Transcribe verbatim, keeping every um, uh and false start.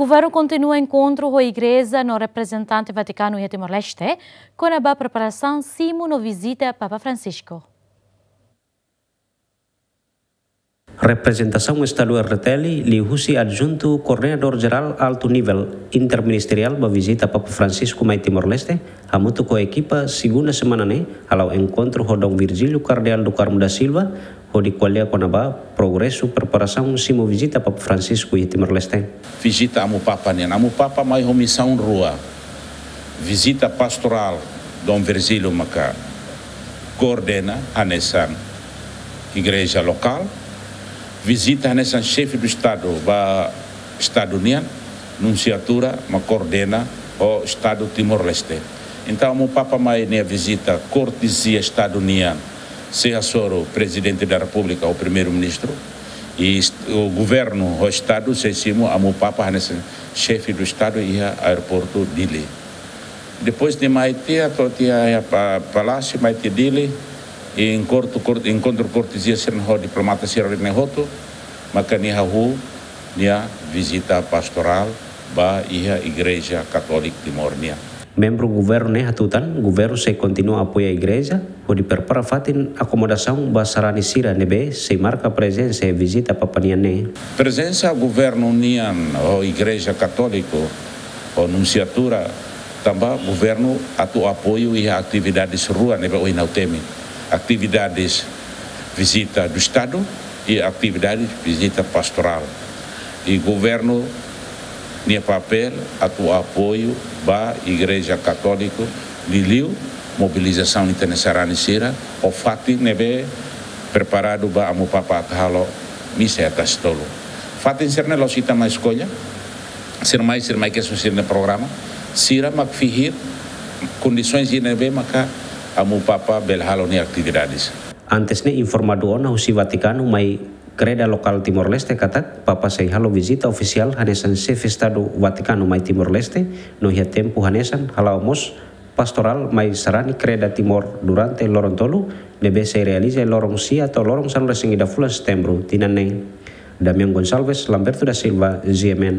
Governu kontinua enkontru ho igreja no reprezentante Vatikanu iha Timor-Leste, kona-ba preparasaun simu no vizita Papa Francisco. Reprezentasaun Estadu R T L, liuhusi Adjuntu Koordenadór Jerál Altu Nivel Interministeriál ba vizita Papa Francisco mai Timor-Leste, hamutuk ho ekipa, segunda semana ne'e hala'o enkontru ho Dom Virgílio Kardeál do Carmo da Silva, hodi ko'alia kona-ba progresu preparasaun simu vizita Papa Francisco iha Timor-Leste. Vizita Amu Papa nian. Amu Papa mai ho misaun rua. Vizita pastorál, Dom Virgílio maka koordena hanesan igreja lokál. Vizita hanesan xefe do Estadu ba Estadu nian, nunsiatura mak koordena ho Estadu Timor-Leste. Entaun, Amu Papa mai nia vizita kortezia Estadu nian, sei hasoru Prezidente da Repúblika ou Primeiru-Ministru, i est-, o governu ho Estadu sei simu Amu Papa hanesan xefe do Estadu iha aeroportu Dili. Depois de mai tiha, to'o tiha iha pa-, palásiu, mai tiha Dili, i enkontru kor-, enkontru kortezia sira ho diplomata sira ne'e hotu, maka nia hahú nia vizita pastorál ba iha Igreja Katólika Timor nian. Membru governu ne'e hatutan, governu sei kontinua apoia igreja, hodi prepara fatin akomodasaun ba sarani sira ne'ebé sei marka prezensa iha vizita Papa nian ne'e. Prezensa governu nian ho Igreja Katólika, ho nunsiatura, tanba governu atu apoiu iha atividades rua ne'ebé ohin ha'u temi. Atividades vizita do Estadu i atividades vizita pastorál. I governu nia papél atu apoiu ba Igreja Katólika, liuliu mobilizasaun ita-nia sarani sira, ho fatin ne'ebé preparadu ba Amu Papa atu halo misa iha Tasitolu. Fatin sira-ne'e la'ós ita mak eskolla, sira mai, sira mai kesun sira-nia programa, sira mak fihir kondisoens ne'ebé maka Amu Papa bele halo nia atividades. Antes ne'e informadu ona husi Vatikanu mai kreda lokál Timor-Leste katak, Papa sei halo vizita ofisiál hanesan xefe Estadu Vatikanu mai Timor-Leste, no iha tempu hanesan hala'o mós pastorál mai sarani kreda Timor durante loron tolu, ne'ebé sei realiza loron sia to'o loron sanulu-resin-ida fulan Setembru tinan ne'e. Damian Gonçalves, Lamberto da Silva, G M N.